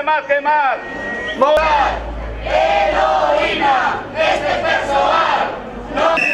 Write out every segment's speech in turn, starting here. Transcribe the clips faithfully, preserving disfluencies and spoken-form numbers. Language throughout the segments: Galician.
que más, que más. Heroína, este persoal. No...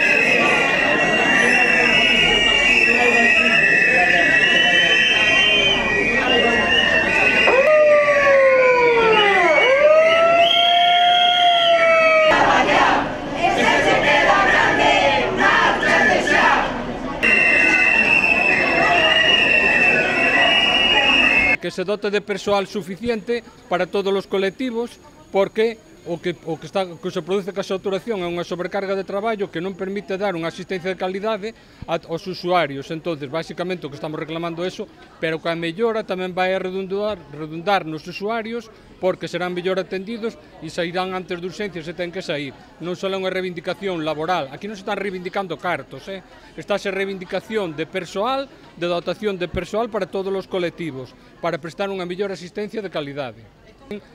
Que se dote de persoal suficiente para todos os colectivos, porque o que, o que, está, que se produce ca saturación é unha sobrecarga de traballo que non permite dar unha asistencia de calidade aos usuarios. Entonces, basicamente, o que estamos reclamando é eso, pero que a mellora tamén vai a redundar, redundar nos usuarios, porque serán mellor atendidos e sairán antes de urxencias se ten que sair. Non só é unha reivindicación laboral, aquí non se están reivindicando cartos, eh? Estáse reivindicación de persoal, de dotación de persoal para todos os colectivos, para prestar unha mellor asistencia de calidade.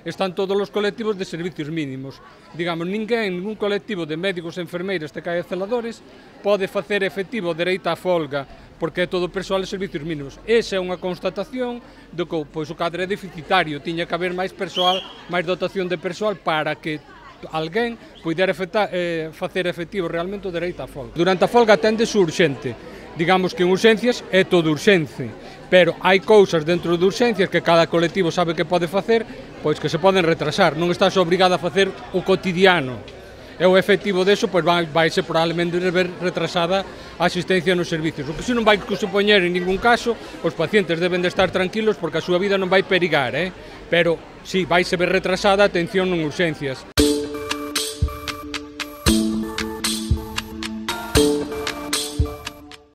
Están todos os colectivos de servicios mínimos. Digamos, ninguén, ningún colectivo de médicos, enfermeiras, T K e celadores pode facer efectivo o dereito á folga, porque é todo persoal de servicios mínimos. Esa é unha constatación de que pois, o cadro é deficitario, tiña que haber máis persoal, máis dotación de persoal para que alguén pudera eh, facer efectivo realmente o dereito á folga. Durante a folga atendese urxente. Digamos que en urxencias é todo urxente, pero hai cousas dentro de urxencias que cada colectivo sabe que pode facer, pois que se poden retrasar, non estás obrigado a facer o cotidiano. E o efectivo deso, pois vai, vai ser probablemente ver retrasada a asistencia nos servicios. O que se non vai supoñer en ningún caso, os pacientes deben de estar tranquilos porque a súa vida non vai perigar, eh? Pero si, vai se ver retrasada a atención en urxencias.